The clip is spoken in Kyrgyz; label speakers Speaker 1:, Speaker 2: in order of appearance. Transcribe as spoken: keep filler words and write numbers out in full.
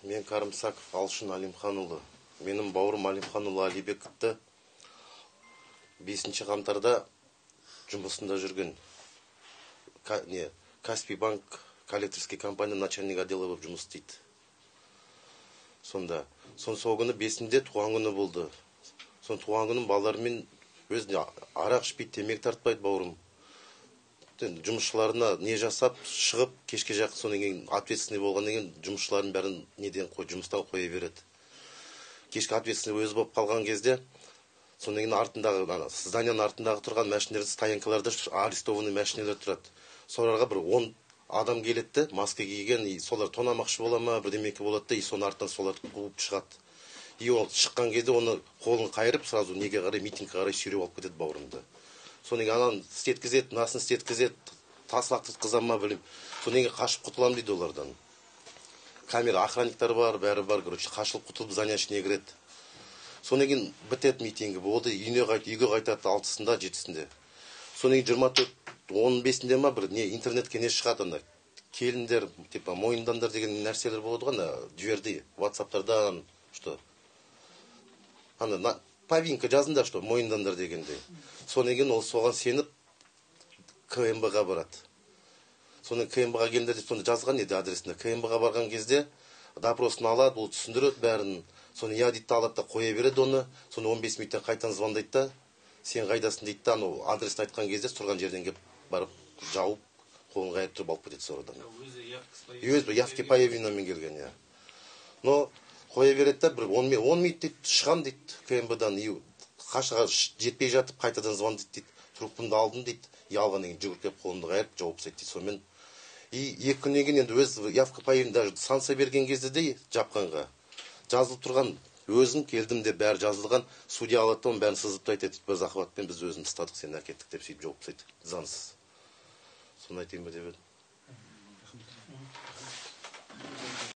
Speaker 1: Мен Карымсаков Алшын Алимхан уулу. Менин бауырум Алимхан уулу Алибековду бешинчи камтарда жумусунда жүргөн. Не, Каспий банк коллекторский компания начальник отдела болуп жумус істейт. Сонда, сон сол күнү бесинде тууган күнү болду. Сон тууган күнүн балдары менен өзүнө арак ичпейт, темеки тартпайт бауырым. Жумушчуларына не жасап, чыгып, кечке жакын сонун кийин ответственный болгондон кийин жумушчулардын баарын неден кой, жумустан кое берет. Кечке ответственный өзү болуп калган кезде, сонун кийин артындагы, зданиянын артындагы турган машиналер, стоянкаларда арестованный машиналер турат. Соларга бир он адам келет да, маска кийген, и солар тонамакчы бола ма, бирдемеке болот да, и сонун артынан соларды кууп чыгат. И ол чыккан кезде оны колун кайрып, сразу неге карай, митингге карай сүйрөп алып кетет бауырымды. Сонун кийин анан истеткизет, насын истеткизет, таслактыткызам ма билем. Сонун кийин качып кутулам дейт олардан. Камера охранниктер бар, баары бар, короче, качылып кутулуп зданияның ичине кирет. Сонун кийин битет митинги, болду, үйүнө кайт, үйгө кайтат алтысында, жетисинде. Сонун кийин жыйырма төрт он бешинде ма бир не интернетке не чыгат анда. Келиндер, типа моюндандар деген нерселер болот го, анда жиберди WhatsApp'тардан, что анда повинка жазыңдар, что моюндандар дегенде. Сонун кийин ол согон сенип КМБга барат. Сонун КМБга келиндер деп сонда жазган эди адресинде. КМБга барган кезде допросын алат, бул түшүндүрөт баарын. Сонун я дейт алат да кое берет оны. Сонун он беш мүнөттөн кайтадан звондайт да, сен кайдасың дейт да, анау адресин айткан кезде турган жерден кеп барып жауып, колун кайрып туруп алып кетет сородан. Өзү явки по явлениями келген я. Но кое берет да, бир он мүнөт дейт, чыгам дейт КМБдан, и кашыга жетпей жатып кайтадан звондайт дейт. Трубкамды алдым дейт, и алгандан кийин жүгүрүп кеп колумду кайрып жооп тастайт дейт. Сонымен и эки күндөн кийин энди өз явка по явлению даже санкция берген кезде де жапканга жазылып турган, өзүм келдим деп баары жазылган, судья алат да, баарын сызып айтат, biz акыбатпен биз өзүбүз устадык, сени акеттик деп сөйтүп жооп тастайт, заңсыз. Сону айтайын ба деп едим.